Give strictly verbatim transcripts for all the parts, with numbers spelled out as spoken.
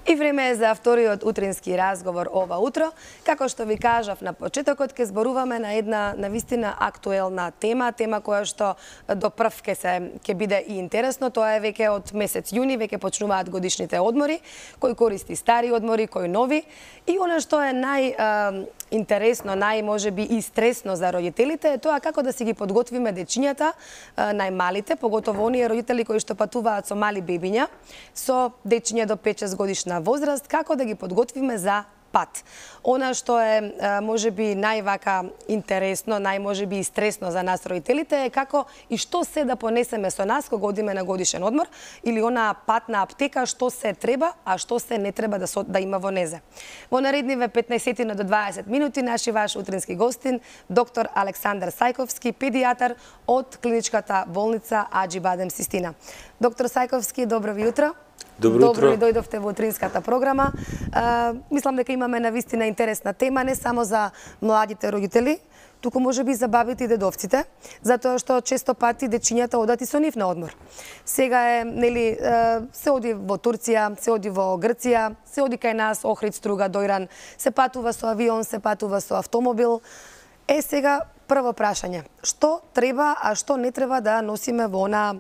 И време е за вториот утрински разговор ова утро. Како што ви кажав на почетокот, ќе зборуваме на една навистина актуелна тема, тема која што до прв ќе се ќе биде и интересно. Тоа е веќе од месец јуни, веќе почнуваат годишните одмори, кој користи стари одмори, кој нови. И она што е најинтересно, нај можеби и стресно за родителите е тоа како да си ги подготвиме дечињата, најмалите, поготово оние родители кои што патуваат со мали бебиња, со дечиња до пет-шест годишна возраст, како да ги подготвиме за пат. Она што е можеби највака интересно, нај можеби и стресно за нас родителите е како и што се да понесеме со нас кога одиме на годишен одмор или она патна аптека, што се треба, а што се не треба да, со, да има во незе. Во наредниве петнаесет до дваесет минути наши ваш утрински гостин доктор Александар Сајковски, педијатар од клиничката болница Аџи Бадем Систина. Доктор Сајковски, добро ви утро. Добро, Добро ли дојдовте во утринската програма. А, мислам дека имаме навистина интересна тема, не само за младите родители, туку може би за бабите и дедовците, затоа што често пати дечињата одат и со нив на одмор. Сега е, нели, се оди во Турција, се оди во Грција, се оди кај нас, Охрид, Струга, Дојран, се патува со авион, се патува со автомобил. Е, сега, прво прашање. Што треба, а што не треба да носиме во она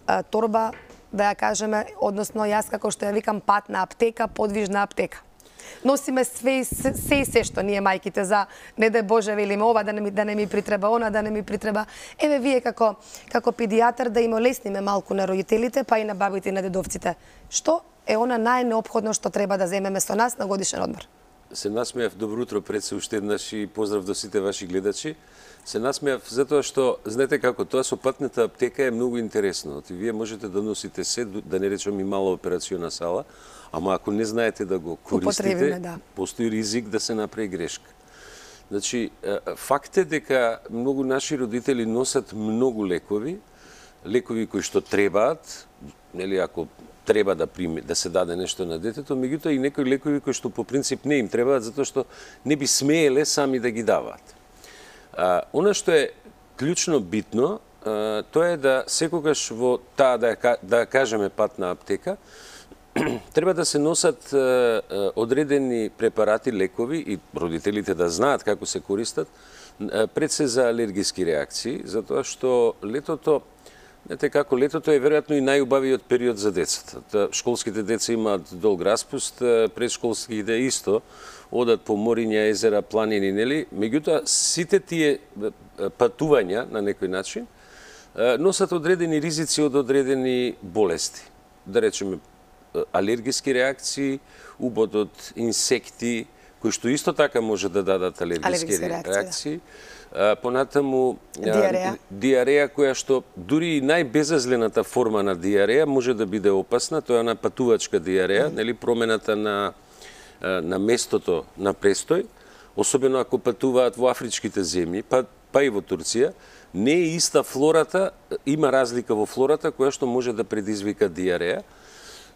а, торба, да ја кажеме, односно јас како што ја викам патна аптека, подвижна аптека. Носиме све, се, се и се што ние мајките за не дај Боже велиме ова да не ми да не ми притреба, она да не ми притреба. Еве вие како како педијатар да им олесниме малку на родителите, па и на бабите и на дедовците. Што е она најнеопходно што треба да земеме со нас на годишен одмор? Се насмеав, добро утро пред се уште еднаш и поздрав до сите ваши гледачи. Се насмеав затоа што, знаете како, тоа со патната аптека е многу интересно. И вие можете да носите се, да не речем и мала операциона сала, ама ако не знаете да го користите, да. Постои ризик да се направи грешка. Значи, факт е дека многу наши родители носат многу лекови, лекови кои што требаат, нели, ако треба да прими, да се даде нешто на детето, меѓутоа и некои лекови кои што по принцип не им требаат затоа што не би смееле сами да ги даваат. А, она што е клучно битно, а, тоа е да секогаш во таа, да, да кажеме патна аптека, треба да се носат а, одредени препарати, лекови и родителите да знаат како се користат, а, пред се за алергиски реакции, затоа што летото, знаете како, летото е веројатно и најубавиот период за децата. Школските деца имаат долг распуст, предшколските исто, одат по мориња, езера, планини, нели? Меѓутоа, сите тие патувања, на некој начин, носат одредени ризици од одредени болести. Да речеме, алергиски реакции, убод од инсекти, кои што исто така може да дадат алергиски, алергиски реакции. реакции. Понатаму диареја. диареја која што дури и најбезазлената форма на диареја може да биде опасна, тоа е на патувачка диареја, mm. нели, промената на на местото на престој, особено ако патуваат во афричките земји, па, па и во Турција, не е иста флората, има разлика во флората која што може да предизвика диареја,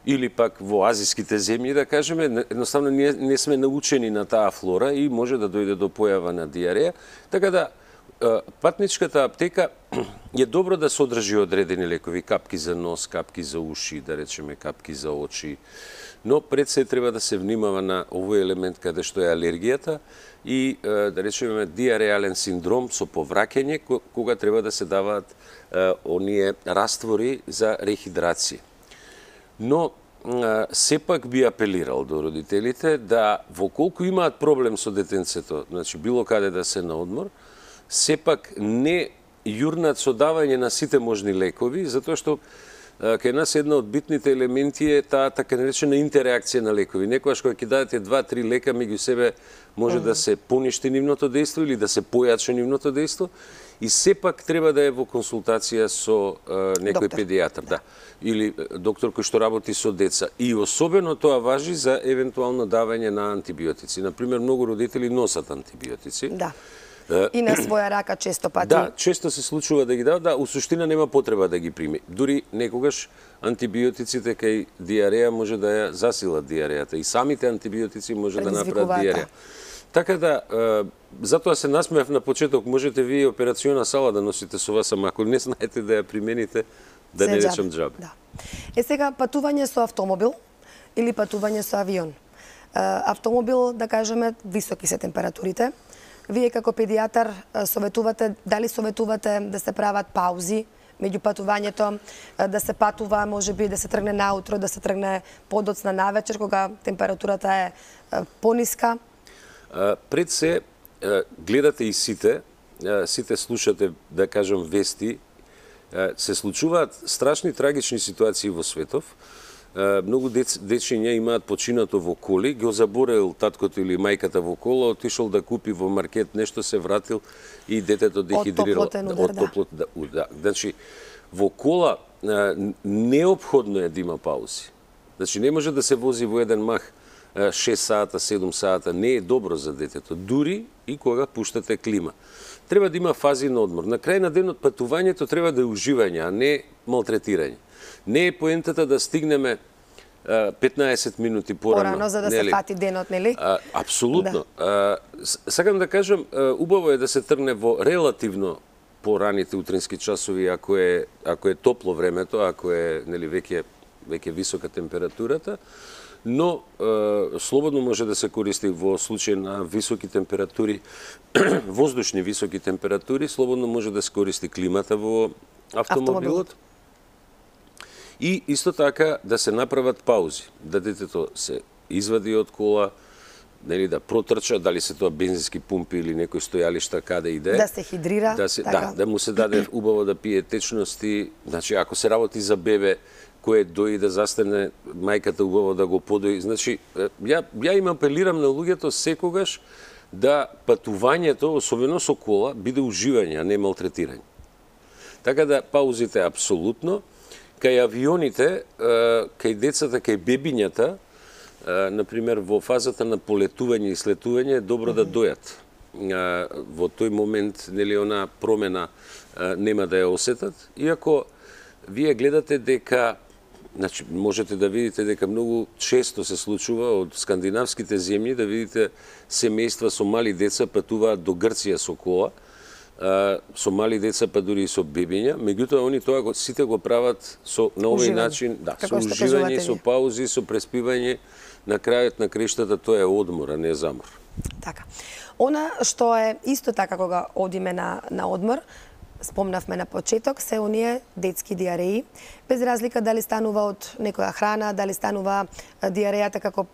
или пак во азиските земји, да кажеме, едноставно не, не сме научени на таа флора и може да дојде до појава на диареја. Така да, патничката аптека е добро да содржи одредени лекови, капки за нос, капки за уши, да речеме капки за очи, но пред се треба да се внимава на овој елемент каде што е алергијата и, да речеме, диареален синдром со повраќање, кога треба да се даваат оние раствори за рехидрација. Но сепак би апелирал до родителите да, во колку имаат проблем со детенцето, значи било каде да се на одмор, сепак не јурнат со давање на сите можни лекови, затоа што кај нас една од битните елементи е таа така наречена интеракција на лекови. Некогаш кога ќе дадете два-три лека меѓу себе може mm. да се поништи нивното дејство или да се појачи нивното дејство и сепак треба да е во консултација со а, некој доктор. Педијатар, да. Или доктор кој што работи со деца. И особено тоа важи за евентуално давање на антибиотици. Например, многу родители носат антибиотици. Да. И на своја рака често пати. Да, често се случува да ги дава, да, у суштина нема потреба да ги прими. Дури некогаш антибиотиците кај диареја може да ја засилат диарејата и самите антибиотици може да направат диареја. Така да, затоа се насмеав на почеток, можете вие операциона сала да носите со вас, ама ако не знаете да ја примените, да не речам џабе. Да. Е сега патување со автомобил или патување со авион. Автомобил, да кажеме, високи се температурите. Вие како педијатар советувате, дали советувате да се прават паузи меѓу патувањето, да се патува, можеби да се тргне наутро, да се тргне подоцна навечер, кога температурата е пониска? Пред се, гледате и сите, сите слушате, да кажем, вести, се случуваат страшни трагични ситуации во светов. Многу дец, дечиња имаат починато во коли, го заборел таткото или мајката во кола, отишол да купи во маркет нешто, се вратил и детето дехидрирало. Од топлотен удар, од топлот, да. да. Значи, во кола неопходно е да има паузи. Значи, не може да се вози во еден мах шест сата, седум сата, не е добро за детето, дури и кога пуштате клима. Треба да има фази на одмор. На крај на денот патувањето треба да е уживање, а не малтретирање. Не е поентата да стигнеме петнаесет минути порано. Порано, за да нели? Се фати денот, нели? А, апсолутно. Да. А, сакам да кажам, убаво е да се тргне во релативно пораните утрински часови, ако е, ако е топло времето, ако е нели, веќе, веќе висока температурата, но е, слободно може да се користи во случај на високи температури, воздушни високи температури, слободно може да се користи климата во автомобилот. Автомобил. И исто така да се направат паузи, да детето се извади од кола, нели да протрча, дали се тоа бензински пумпи или некој стојалишта каде иде. Да се хидрира. Да, се, така. да, да му се даде убаво да пие течности. Значи, ако се работи за бебе, кој дои да застане мајката убаво да го подои. Значи, ја, ја им апелирам на луѓето секогаш да патувањето, особено со кола, биде уживање, а не малтретирање. Така да паузите апсолутно. Кај авионите, кај децата, кај бебињата, например, во фазата на полетување и слетување е добро mm-hmm. да дојат. Во тој момент, нели, она промена нема да ја осетат. Иако вие гледате дека, значи, можете да видите дека многу често се случува од скандинавските земји, да видите семејства со мали деца патуваат до Грција со кола, со мали деца, па дури и со бебиња, меѓутоа они тоа го, сите го прават со на овој начин, да, со уживање, со паузи, со преспивање, на крајот на крештата тоа е одмор, а не замор. Така. Она што е исто така кога одиме на на одмор, спомнавме на почеток, се оние детски диареи, без разлика дали станува од некоја храна, дали станува диарејата како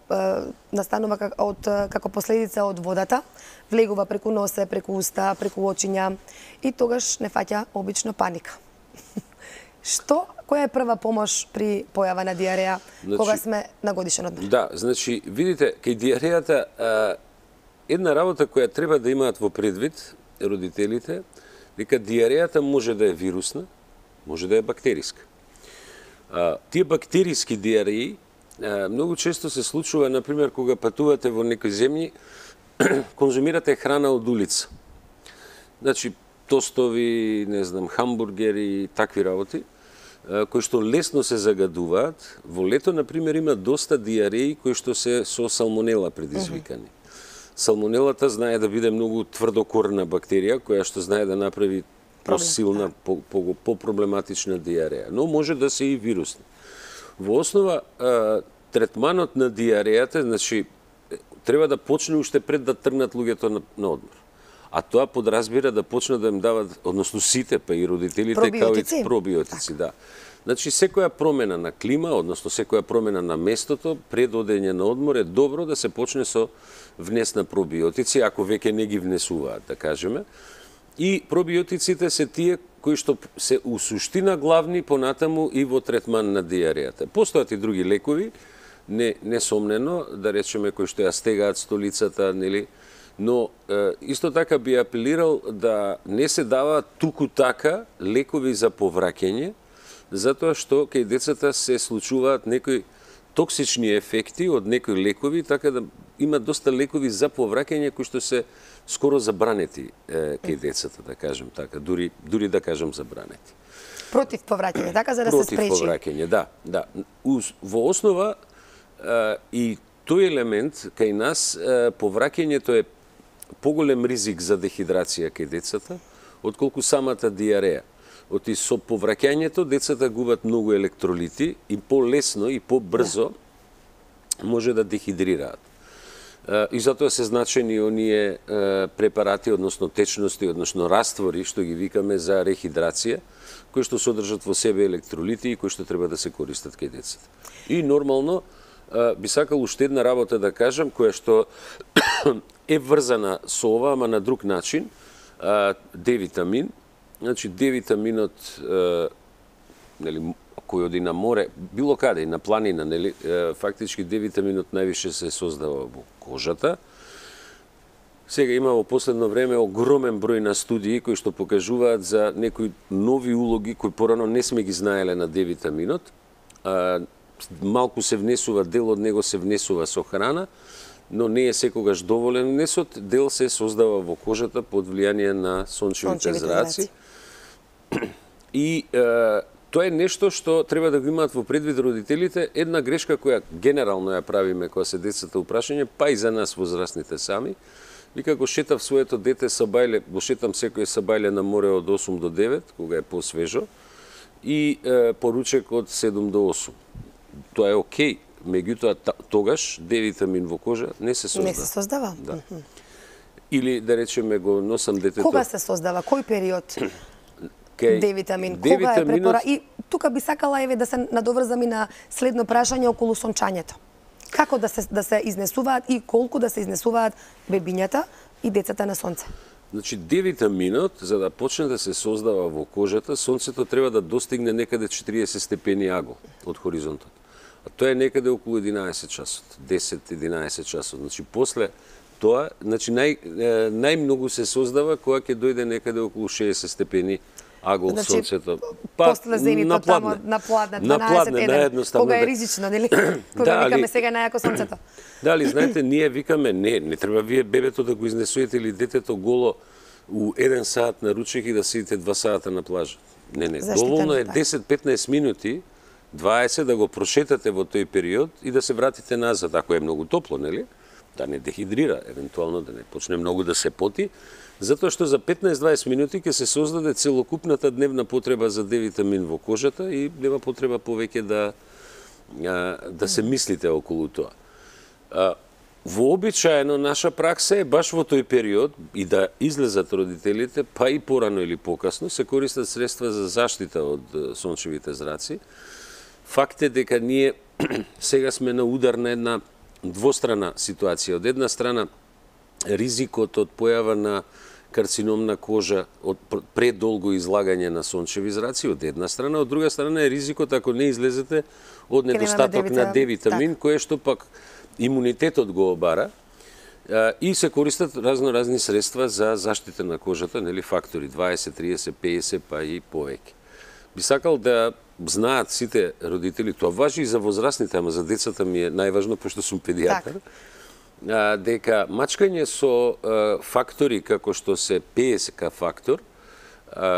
настанува од како последица од водата, влегува преку носе, преку уста, преку очиња и тогаш не фаќа обично паника. Што, која е прва помош при појава на диареја, значи, кога сме на годишен одмор? Да, значи, видите, кај диарејата една работа која треба да имаат во предвид родителите, дека диарејата може да е вирусна, може да е бактериска. А, тие бактериски диареи а, многу често се случува, например, кога патувате во некои земји, конзумирате храна од улица. Значи, тостови, не знам, хамбургери, такви работи, а, кои што лесно се загадуваат. Во лето, например, има доста диареи кои што се со салмонела предизвикани. Mm-hmm. Салмонелата знае да биде многу тврдокорна бактерија, која што знае да направи посилна, по-проблематична по, по диареја. Но може да се и вирусна. Во основа, а, третманот на диарејата, значи, треба да почне уште пред да тргнат луѓето на, на одмор. А тоа подразбира да почнат да им дават, односно сите, па и родителите, пробиотици. Као и пробиотици, да. Значи, секоја промена на клима, односно секоја промена на местото, пред одење на одмор е добро да се почне со внес на пробиотици, ако веќе не ги внесуваат, да кажеме. И пробиотиците се тие кои што се у суштина главни понатаму и во третман на диарејата. Постојат и други лекови, не, несомнено, да речеме, кои што ја стегаат столицата, нели, но е, исто така би апелирал да не се даваат туку така лекови за повраќање, затоа што кај децата се случуваат некои токсични ефекти од некои лекови, така да има доста лекови за повраќање кои што се скоро забранети е, кај децата, да кажем така, дури дури да кажем забранети. Против повраќање, така за да Против се спречи. Против повраќање, да, да. Во основа е, и тој елемент кај нас е, повраќањето е поголем ризик за дехидрација кај децата, отколку самата диареја. Оти со повраќањето децата губат многу електролити и полесно и побрзо може да дехидрираат. И затоа се значени оние препарати, односно течности, односно раствори, што ги викаме за рехидрација, кои што содржат во себе електролити и кои што треба да се користат кај децата. И нормално, би сакал уште една работа да кажам, која што е врзана со ова, ама на друг начин, Д-витамин. Значи, Д-витаминот, нели, кој оди на море, било каде, и на планина, нели, фактички Д-витаминот највише се создава во кожата. Сега има во последно време огромен број на студии кои што покажуваат за некои нови улоги кои порано не сме ги знаеле на Д-витаминот. Малку се внесува, дел од него се внесува со храна, но не е секогаш доволен внесот, дел се создава во кожата под влијание на сончевите зраци. И е, тоа е нешто што треба да го имаат во предвид родителите. Една грешка која генерално ја правиме кога се децата упрашање, па и за нас возрастните сами. Вика, го шетав своето дете са бајле, го шетам секој са бајле на море од осум до девет, кога е посвежо, и е, поручек од седум до осум. Тоа е окей, меѓутоа тогаш Д-витамин во кожа не се создава. Не се создава? Да. Mm -hmm. Или да речеме го носам детето. Кога се создава? Кој период? Д-витамин. Кога е препора? И тука би сакала еве да се надоврзам и на следно прашање околу сончањето. Како да се да се изнесуваат и колку да се изнесуваат бебињата и децата на сонце? Значи, Д-витаминот, за да почне да се создава во кожата, сонцето треба да достигне некаде четириесет степени аго од хоризонтот. А тоа е некаде околу единаесет часот, десет единаесет часот. Значи, после тоа, значи, нај, најмногу се создава кога ќе дојде некаде околу шеесет степени аго од значи, сонцето. Па, после зенитот тамо на пладне, дванаесет еден, кога е ризично, нели? Кога да, викаме сега најако сонцето. Дали, знаете, ние викаме, не, не треба вие бебето да го изнесуете или детето голо у еден саат на ручек и да седите два сата на плажа. Не, не, Заштитен, доволно е да. десет петнаесет минути, дваесет да го прошетате во тој период и да се вратите назад, ако е многу топло, нели? Да не дехидрира, евентуално да не почне многу да се поти, затоа што за петнаесет дваесет минути ќе се создаде целокупната дневна потреба за Д-витамин во кожата и нема потреба повеќе да да се мислите околу тоа. Вообичаено наша пракса е баш во тој период и да излезат родителите, па и порано или покасно, се користат средства за заштита од сончевите зраци. Факт е дека ние сега сме на удар на една двострана ситуација. Од една страна, ризикот од појава на карциномна кожа од предолго излагање на сончеви зраци, од една страна, од друга страна е ризикот ако не излезете од недостаток на Д-витамин, кој што пак имунитетот го обара, и се користат разно-разни средства за заштита на кожата, нели, фактори дваесет, триесет, педесет, па и повеќе. Би сакал да знаат сите родители, тоа важи и за возрастните, ама за децата ми е најважно, пошто сум педијатар, дека мачкање со фактори како што се пе ес ка фактор,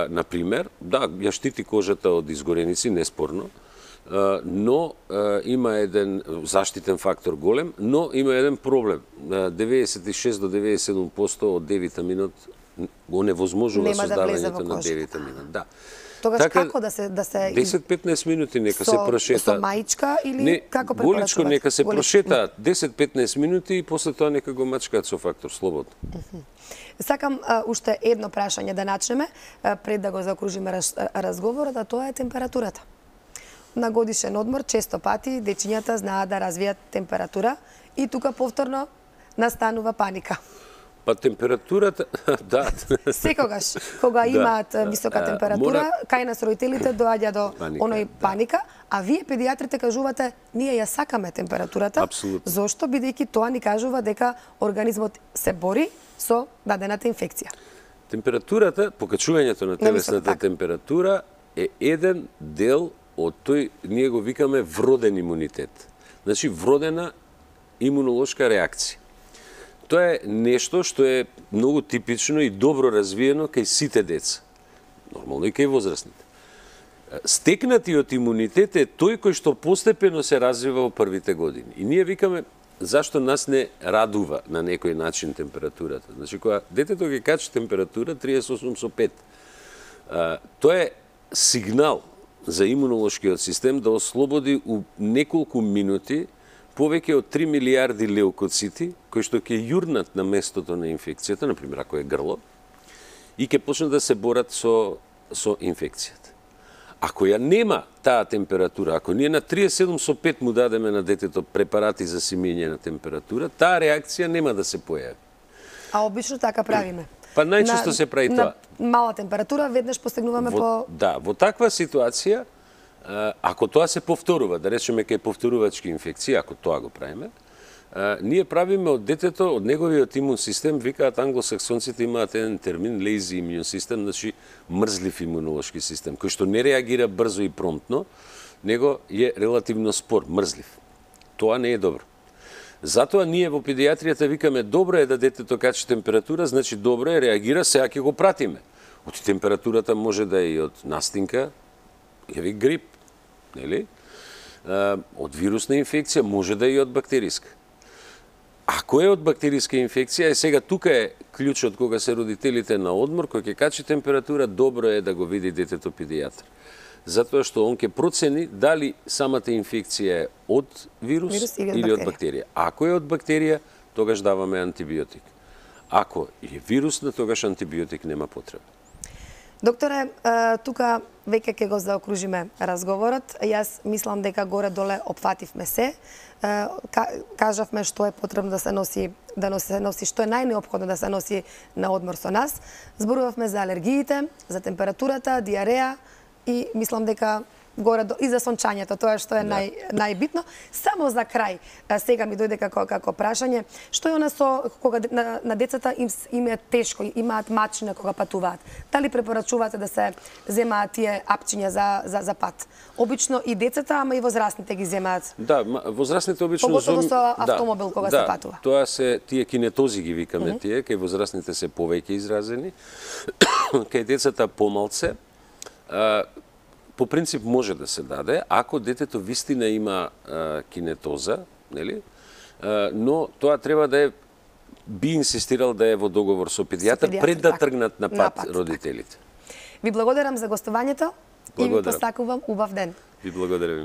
например, да, ја штити кожата од изгореници, неспорно, но има еден заштитен фактор голем, но има еден проблем. деветдесет и шест до деветдесет и седум проценти од Д-витаминот го невозможува создавањето на Д-витаминот. Да. Тогаш така, како да се да се десет петнаесет минути нека со, се прошета. Со маичка или не, како препорачувате? Голичко нека се прошетаат десет петнаесет минути и после тоа нека го мачкаат со фактор слободно. Uh -huh. Сакам а, уште едно прашање да начнеме а, пред да го закружиме раз, разговорот, а тоа е температурата. На годишен одмор често пати дечињата знаат да развијат температура и тука повторно настанува паника. Па температурата, да. Секогаш, кога имаат да, висока температура, мора... кај нас родителите доаѓа до паника, оној да. паника, а вие педијатрите кажувате, ние ја сакаме температурата. Апсолутно. Зошто? Бидејќи тоа ни кажува дека организмот се бори со дадената инфекција. Температурата, покачувањето на телесната температура е еден дел од тој, ние го викаме вроден имунитет. Значи, вродена имунолошка реакција. Тоа е нешто што е многу типично и добро развиено кај сите деца. Нормално и кај возрастните. Стекнатиот имунитет е тој кој што постепено се развива во првите години. И ние викаме, зашто нас не радува на некој начин температурата. Значи, кога детето ги качи температура триесет и осум со пет, тоа е сигнал за имунолошкиот систем да ослободи у неколку минути повеќе од три милиарди леукоцити кои што ќе јурнат на местото на инфекцијата, например ако е грло, и ќе почнат да се борат со со инфекцијата. Ако ја нема таа температура, ако ние на триесет и седум со пет му дадеме на детето препарати за симење на температура, таа реакција нема да се појави. А обично така правиме. Па најчесто се прави тоа. На мала температура веднаш постигнуваме во, по... Да, во таква ситуација, ако тоа се повторува, да речеме кај повторувачки инфекции, ако тоа го правиме, ние правиме од детето, од неговиот имун систем, викаат англосаксонците имаат еден термин, lazy immune system, значи мрзлив имунолошки систем, кој што не реагира брзо и промптно, него е релативно спор, мрзлив. Тоа не е добро. Затоа ние во педијатријата викаме добро е да детето качи температура, значи добро е, реагира, сега ќе го пратиме. Од температурата може да е и од настинка, или грип, нели? Од вирусна инфекција, може да е и од бактериска. Ако е од бактериска инфекција, е сега тука е клучот кога се родителите на одмор, кој ќе качи температура, добро е да го види детето педијатар. Затоа што он ќе процени дали самата инфекција е од вирус, вирус или, или од бактерија. Ако е од бактерија, тогаш даваме антибиотик. Ако е вирусна, тогаш антибиотик нема потреба. Докторе, тука веќе ќе го заокружиме разговорот. Јас мислам дека горе-доле опфативме се. Кажавме што е потребно да се носи, да се носи, што е најнеопходно да се носи на одмор со нас. Зборувавме за алергиите, за температурата, диареја и мислам дека горе до, и за сончањето, тоа што е да. нај, најбитно. Само за крај, сега ми дојде како, како прашање, што е она со кога на, на децата им, им е тешко, имаат мачина кога патуваат? Дали препорачувате да се земаат тие апчиња за, за, за пат? Обично и децата, ама и возрастните ги земаат. Да, возрастните обично... Поготово со автомобил да, кога да, се патува. Тоа се тие кинетози ги викаме mm -hmm. тие, кај возрастните се повеќе изразени, кај децата помалце. А, по принцип може да се даде, ако детето вистина има а, кинетоза, нели? А, но тоа треба да е, би инсистирал да е во договор со педијатар, педијатар пред да тргнат на пат, на пат родителите. Ви благодарам за гостувањето и ви постакувам убав ден. Ви благодарам.